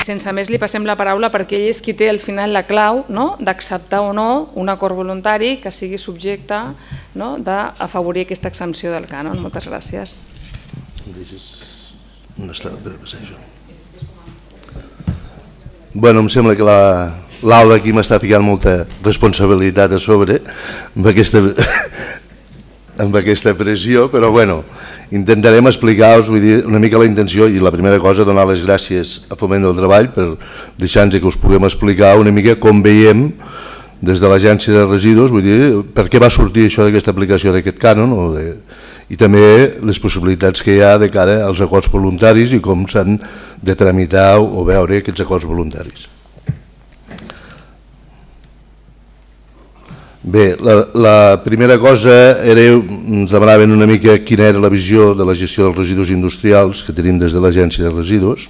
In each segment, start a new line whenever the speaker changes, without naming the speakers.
sense més li passem la paraula perquè ell és qui té al final la clau d'acceptar o no un acord voluntari que sigui subjecte d'afavorir aquesta exempció del cànon. Moltes gràcies.
On està? Bueno, em sembla que l'Aula aquí m'està ficant molta responsabilitat a sobre amb aquesta pressió, però bueno, intentarem explicar-vos una mica la intenció i la primera cosa, donar les gràcies a Foment del Treball per deixar-nos que us puguem explicar una mica com veiem des de l'Agència de Residus, vull dir, per què va sortir això d'aquesta aplicació d'aquest cànon i també les possibilitats que hi ha de cara als acords voluntaris i com s'han de tramitar o veure aquests acords voluntaris. Bé, la primera cosa era, ens demanaven una mica quina era la visió de la gestió dels residus industrials que tenim des de l'Agència de Residus.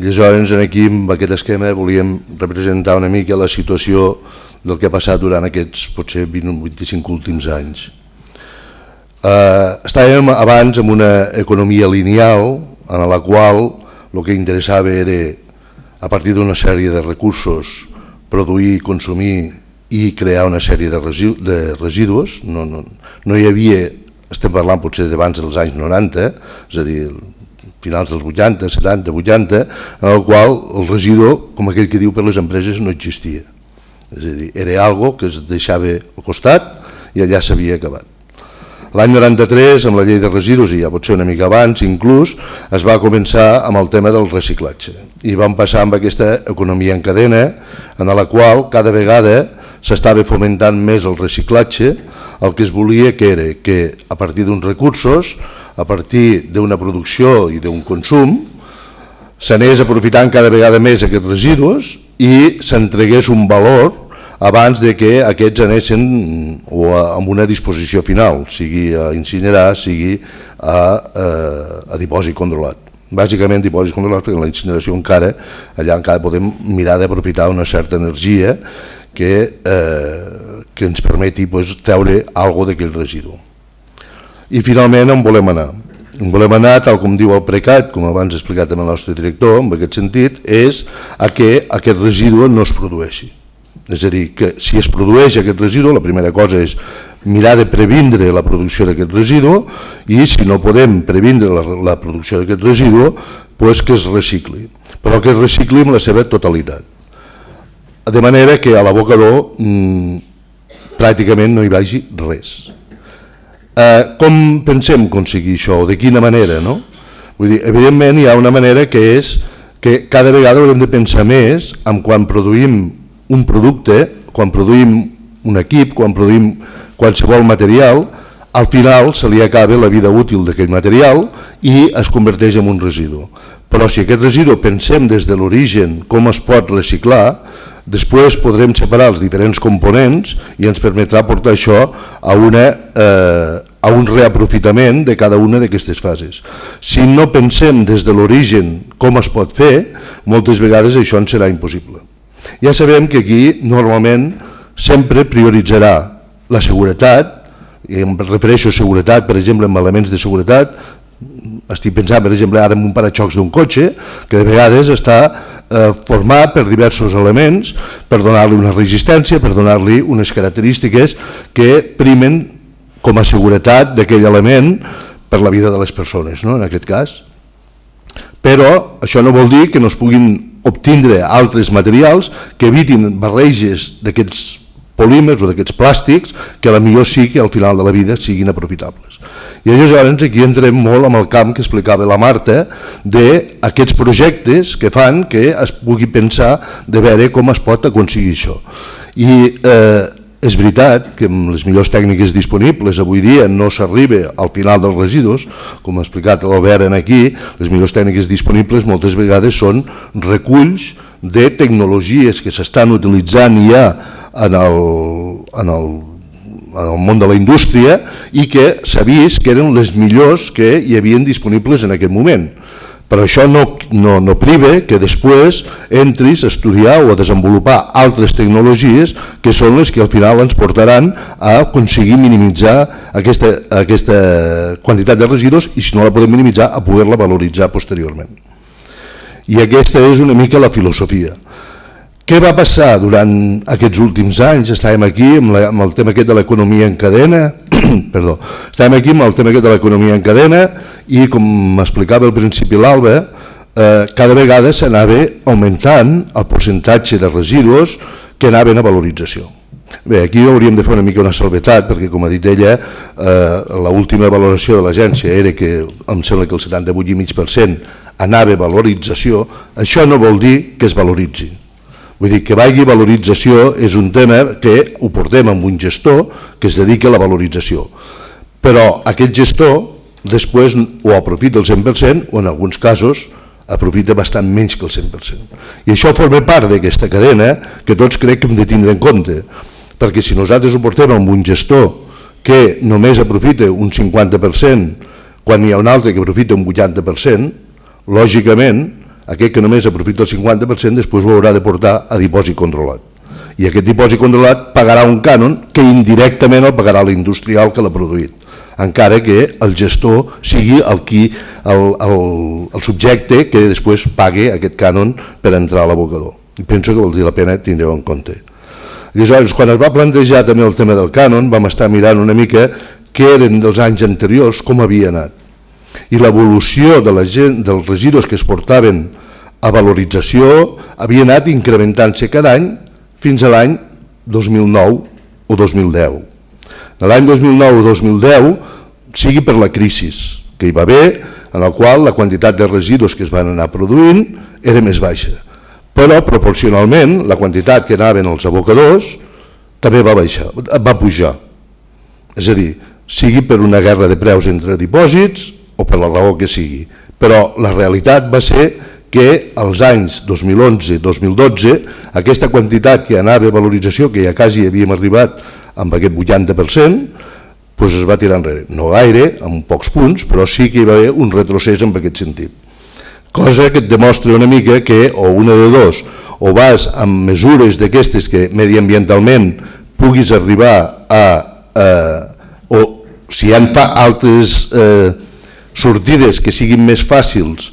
I aleshores aquí amb aquest esquema volíem representar una mica la situació del que ha passat durant aquests potser 20 o 25 últims anys. Estàvem abans en una economia lineal en la qual el que interessava era, a partir d'una sèrie de recursos, produir, consumir i crear una sèrie de residus. No hi havia, estem parlant potser d'abans dels anys 90, és a dir, finals dels 80, 70, 80, en el qual el residu, com aquell que diu per les empreses, no existia. És a dir, era algo que es deixava al costat i allà s'havia acabat. L'any 93, amb la llei de residus, i ja pot ser una mica abans inclús, es va començar amb el tema del reciclatge. I vam passar amb aquesta economia en cadena, en la qual cada vegada s'estava fomentant més el reciclatge. El que es volia que era que a partir d'uns recursos, a partir d'una producció i d'un consum, s'anés aprofitant cada vegada més aquests residus i s'entregués un valor abans de que aquests anessin amb una disposició final, sigui a incinerar, sigui a dipòsit controlat. Bàsicament dipòsit controlat, perquè en la incineració allà encara podem mirar d'aprofitar una certa energia que ens permeti treure alguna cosa d'aquell residu. I finalment on volem anar? On volem anar, tal com diu el PRECAT, com abans he explicat amb el nostre director, en aquest sentit, és que aquest residu no es produeixi. És a dir, que si es produeix aquest residu, la primera cosa és mirar de previndre la producció d'aquest residu i si no podem previndre la producció d'aquest residu, doncs que es recicli, però que es recicli en la seva totalitat. De manera que a l'abocador pràcticament no hi vagi res. Com pensem aconseguir això? De quina manera? Vull dir, evidentment hi ha una manera que és que cada vegada haurem de pensar més en quan produïm un producte, quan produïm un equip, quan produïm qualsevol material, al final se li acaba la vida útil d'aquell material i es converteix en un residu. Però si aquest residu pensem des de l'origen com es pot reciclar, després podrem separar els diferents components i ens permetrà portar això a un reaprofitament de cada una d'aquestes fases. Si no pensem des de l'origen com es pot fer, moltes vegades això ens serà impossible. Ja sabem que aquí normalment sempre prioritzarà la seguretat, i em refereixo a seguretat, per exemple, en elements de seguretat. Estic pensant, per exemple, ara en un paraxocs d'un cotxe, que de vegades està format per diversos elements per donar-li una resistència, per donar-li unes característiques que primen com a seguretat d'aquell element per la vida de les persones, en aquest cas. Però això no vol dir que no es puguin obtindre altres materials que evitin barreges d'aquests polímers o d'aquests plàstics que potser sí que al final de la vida siguin aprofitables. I llavors aquí entrem molt amb el camp que explicava la Marta d'aquests projectes que fan que es pugui pensar de veure com es pot aconseguir això. I és veritat que amb les millors tècniques disponibles avui dia no s'arriba al final dels residus, com ha explicat l'Albert aquí, les millors tècniques disponibles moltes vegades són reculls de tecnologies que s'estan utilitzant ja en el món de la indústria i que s'ha vist que eren les millors que hi havien disponibles en aquest moment. Però això no priva que després entris a estudiar o a desenvolupar altres tecnologies que són les que al final ens portaran a aconseguir minimitzar aquesta quantitat de residus i si no la podem minimitzar a poder-la valoritzar posteriorment. I aquesta és una mica la filosofia. Què va passar durant aquests últims anys? Estàvem aquí amb el tema aquest de l'economia en cadena, perdó, estàvem aquí amb el tema aquest de l'economia en cadena i, com m'explicava al principi l'Alba, cada vegada s'anava augmentant el percentatge de residus que anaven a valorització. Bé, aquí hauríem de fer una mica una salvetat, perquè com ha dit ella, l'última valoració de l'agència era que em sembla que el 78,5% anava a valorització. Això no vol dir que es valoritzi. Vull dir, que vagi a valorització és un tema que ho portem amb un gestor que es dedica a la valorització. Però aquest gestor després ho aprofita el 100% o en alguns casos aprofita bastant menys que el 100%. I això forma part d'aquesta cadena que tots crec que hem de tindre en compte, perquè si nosaltres ho portem amb un gestor que només aprofita un 50% quan hi ha un altre que aprofita un 80%, lògicament aquest que només aprofita el 50% després ho haurà de portar a dipòsit controlat. I aquest dipòsit controlat pagarà un cànon que indirectament el pagarà l'industrial que l'ha produït, encara que el gestor sigui el subjecte que després pagui aquest cànon per entrar a l'abocador. I penso que valdria la pena tindre-ho en compte. Aleshores, quan es va plantejar també el tema del cànon, vam estar mirant una mica què eren dels anys anteriors, com havia anat. I l'evolució dels residus que es portaven a valorització havia anat incrementant-se cada any fins a l'any 2009 o 2010. L'any 2009 o 2010, sigui per la crisi que hi va haver, en la qual la quantitat de residus que es van anar produint era més baixa, però proporcionalment la quantitat que anaven als abocadors també va pujar. És a dir, sigui per una guerra de preus entre dipòsits o per la raó que sigui, però la realitat va ser que als anys 2011-2012 aquesta quantitat que anava a valorització, que ja quasi havíem arribat amb aquest 80%, doncs es va tirar enrere. No gaire, amb pocs punts, però sí que hi va haver un retrocés en aquest sentit. Cosa que et demostra una mica que o una de dos, o vas amb mesures d'aquestes que mediambientalment puguis arribar o si hi ha altres sortides que siguin més fàcils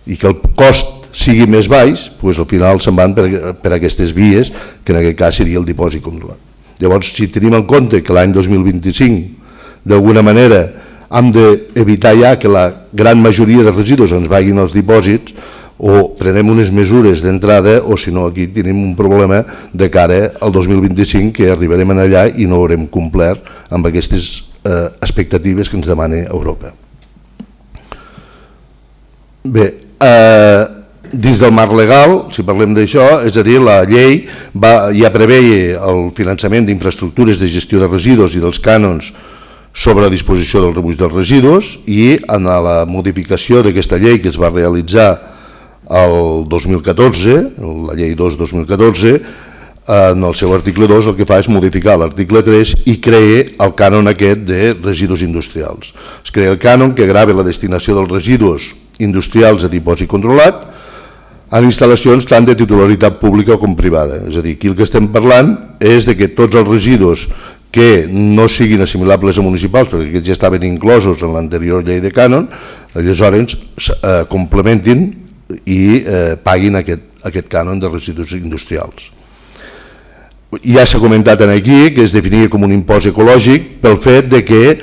i que el cost sigui més baix, doncs al final se'n van per aquestes vies, que en aquest cas seria el dipòsit controlat. Llavors, si tenim en compte que l'any 2025 d'alguna manera hem d'evitar ja que la gran majoria de residus ens vagin als dipòsits, o prenem unes mesures d'entrada, o si no aquí tenim un problema de cara al 2025 que arribarem allà i no haurem complert amb aquestes expectatives que ens demana Europa. Bé, dins del marc legal, si parlem d'això, és a dir, la llei ja preveia el finançament d'infraestructures de gestió de residus i dels cànons sobre la disposició del rebuig dels residus, i en la modificació d'aquesta llei que es va realitzar el 2014, la llei 2-2014, en el seu article 2 el que fa és modificar l'article 3 i crea el cànon aquest de residus industrials. Es crea el cànon que grava la destinació dels residus industrials a dipòsit controlat en instal·lacions tant de titularitat pública com privada. És a dir, aquí el que estem parlant és de que tots els residus que no siguin assimilables a municipals, perquè aquests ja estaven inclosos en l'anterior llei de cànon, aleshores complementin i paguin aquest cànon de residus industrials. Ja s'ha comentat aquí que es definia com un impost ecològic pel fet que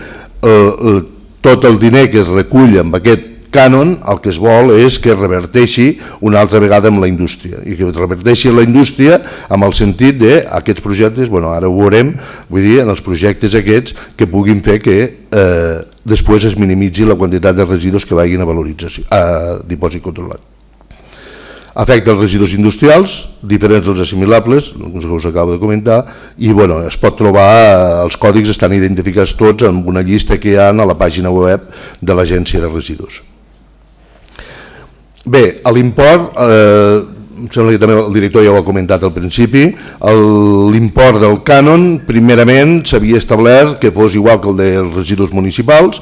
tot el diner que es recull amb aquest cànon el que es vol és que reverteixi una altra vegada amb la indústria, i que reverteixi la indústria amb el sentit d'aquests projectes, ara ho veurem, vull dir, en els projectes aquests que puguin fer que després es minimitzi la quantitat de residus que vagin a valorització, a dipòsit controlat. Afecta els residus industrials, diferents dels assimilables, que us acabo de comentar, i es pot trobar, els còdics estan identificats tots en una llista que hi ha a la pàgina web de l'Agència de Residus. Bé, l'import, em sembla que també el director ja ho ha comentat al principi, l'import del cànon, primerament s'havia establert que fos igual que el dels residus municipals,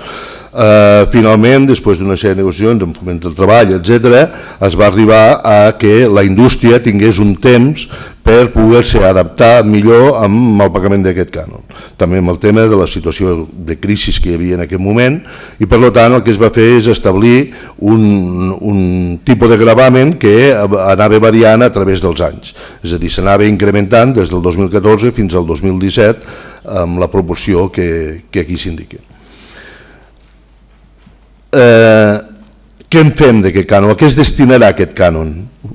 Finalment, després d'una sèrie de negociacions amb Foment del Treball, etc., es va arribar a que la indústria tingués un temps per poder-se adaptar millor amb el pagament d'aquest cànon. També amb el tema de la situació de crisi que hi havia en aquest moment, i per tant el que es va fer és establir un tipus de gravamen que anava variant a través dels anys. És a dir, s'anava incrementant des del 2014 fins al 2017 amb la proporció que aquí s'indica. Què en fem d'aquest cànon? A què es destinarà aquest cànon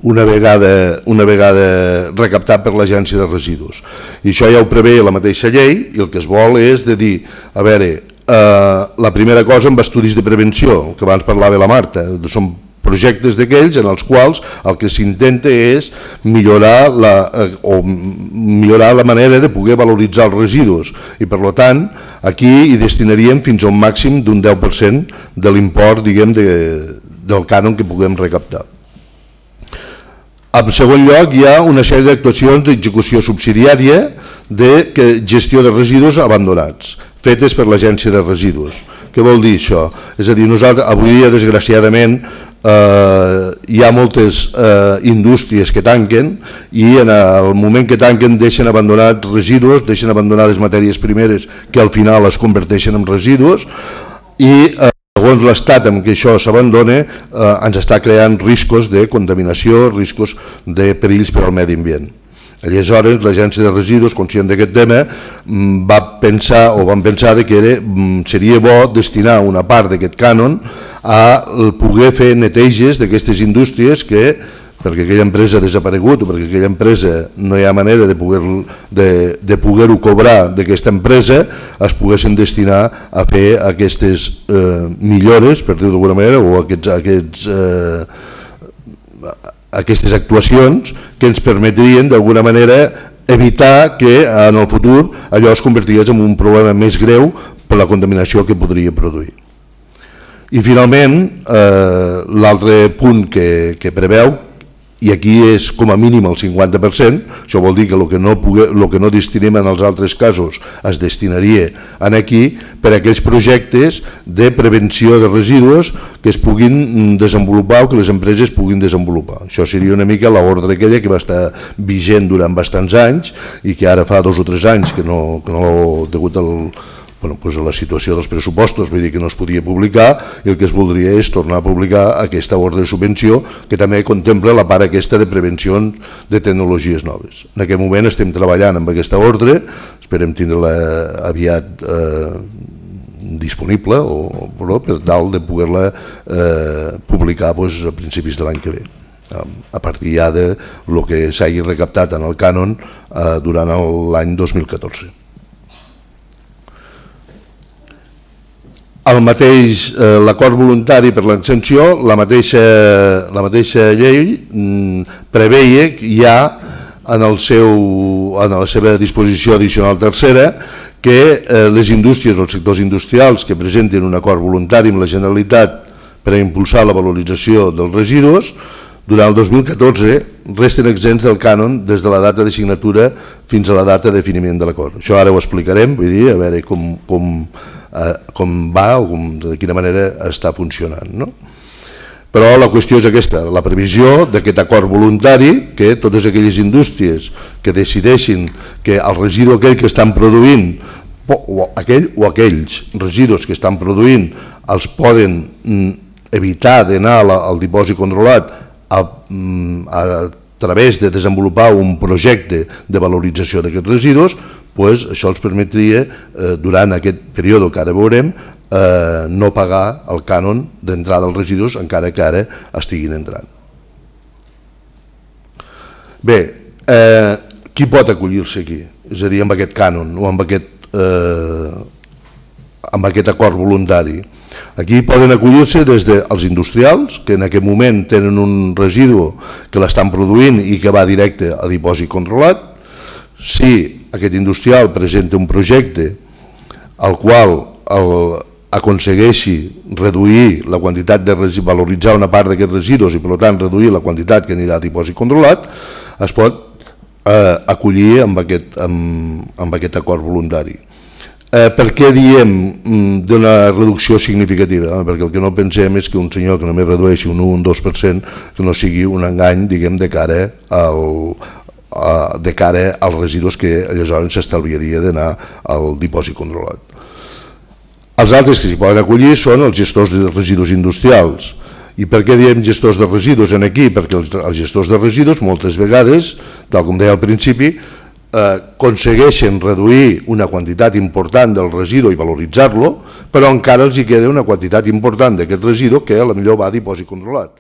una vegada recaptat per l'Agència de Residus? I això ja ho prevé la mateixa llei, i el que es vol és de dir, a veure, la primera cosa amb estudis de prevenció, que abans parlava la Marta, són projectes d'aquells en els quals el que s'intenta és millorar la manera de poder valoritzar els residus, i per tant aquí hi destinaríem fins a un màxim d'un 10% de l'import, diguem, del cànon que puguem recaptar. En segon lloc, hi ha una sèrie d'actuacions d'execució subsidiària de gestió de residus abandonats, fetes per l'Agència de Residus. Què vol dir això? És a dir, nosaltres avui dia, desgraciadament, hi ha moltes indústries que tanquen, i en el moment que tanquen deixen abandonats residus, deixen abandonades matèries primeres que al final es converteixen en residus, i segons l'estat en què això s'abandona ens està creant riscos de contaminació, riscos de perills per al medi ambient. Aleshores, l'Agència de Residus, conscient d'aquest tema, van pensar que seria bo destinar una part d'aquest cànon a poder fer neteges d'aquestes indústries que, perquè aquella empresa ha desaparegut o perquè aquella empresa no hi ha manera de poder-ho cobrar d'aquesta empresa, es poguessin destinar a fer aquestes millores, per dir-ho d'alguna manera, o aquestes actuacions que ens permetrien d'alguna manera evitar que en el futur allò es convertís en un problema més greu per la contaminació que podria produir. I finalment, l'altre punt que preveu, i aquí és com a mínim el 50%, això vol dir que el que no destinem en els altres casos es destinaria aquí per a aquells projectes de prevenció de residus que es puguin desenvolupar o que les empreses puguin desenvolupar. Això seria una mica l'ordre aquella que va estar vigent durant bastants anys i que ara fa 2 o 3 anys que no degut a la situació dels pressupostos, vull dir que no es podia publicar, i el que es voldria és tornar a publicar aquesta ordre de subvenció que també contempla la part aquesta de prevenció de tecnologies noves. En aquest moment estem treballant amb aquesta ordre, esperem tindre-la aviat disponible per tal de poder-la publicar a principis de l'any que ve, a partir ja de lo que s'hagi recaptat en el cànon durant l'any 2014. L'acord voluntari per l'exempció, la mateixa llei preveia ja en la seva disposició addicional tercera que les indústries o els sectors industrials que presenten un acord voluntari amb la Generalitat per a impulsar la valorització dels residus durant el 2014 resten exempts del cànon des de la data de signatura fins a la data de definiment de l'acord. Això ara ho explicarem, vull dir, a veure com va o de quina manera està funcionant. Però la qüestió és aquesta, la previsió d'aquest acord voluntari, que totes aquelles indústries que decideixin que el residu aquell que estan produint, o aquells residus que estan produint, els poden evitar d'anar al dipòsit controlat a través de desenvolupar un projecte de valorització d'aquests residus, això els permetria, durant aquest període que ara veurem, no pagar el cànon d'entrada dels residus encara que ara estiguin entrant. Bé, qui pot acollir-se aquí? És a dir, amb aquest cànon o amb aquest acord voluntari. Aquí poden acollir-se des dels industrials, que en aquest moment tenen un residu que l'estan produint i que va directe a dipòsit controlat. Si aquest industrial presenta un projecte al qual aconsegueixi reduir la quantitat de valoritzar una part d'aquests residus i per tant reduir la quantitat que anirà a dipòsit controlat, es pot acollir amb aquest acord voluntari. Per què diem d'una reducció significativa? Perquè el que no pensem és que un senyor que només redueixi un 1 o un 2%, que no sigui un engany, diguem, de cara als residus que aleshores s'estalviaria d'anar al dipòsit controlat. Els altres que s'hi poden acollir són els gestors de residus industrials. I per què diem gestors de residus aquí? Perquè els gestors de residus moltes vegades, tal com deia al principi, aconsegueixen reduir una quantitat important del residu i valoritzar-lo, però encara els hi queda una quantitat important d'aquest residu que potser va a dipòsit controlat.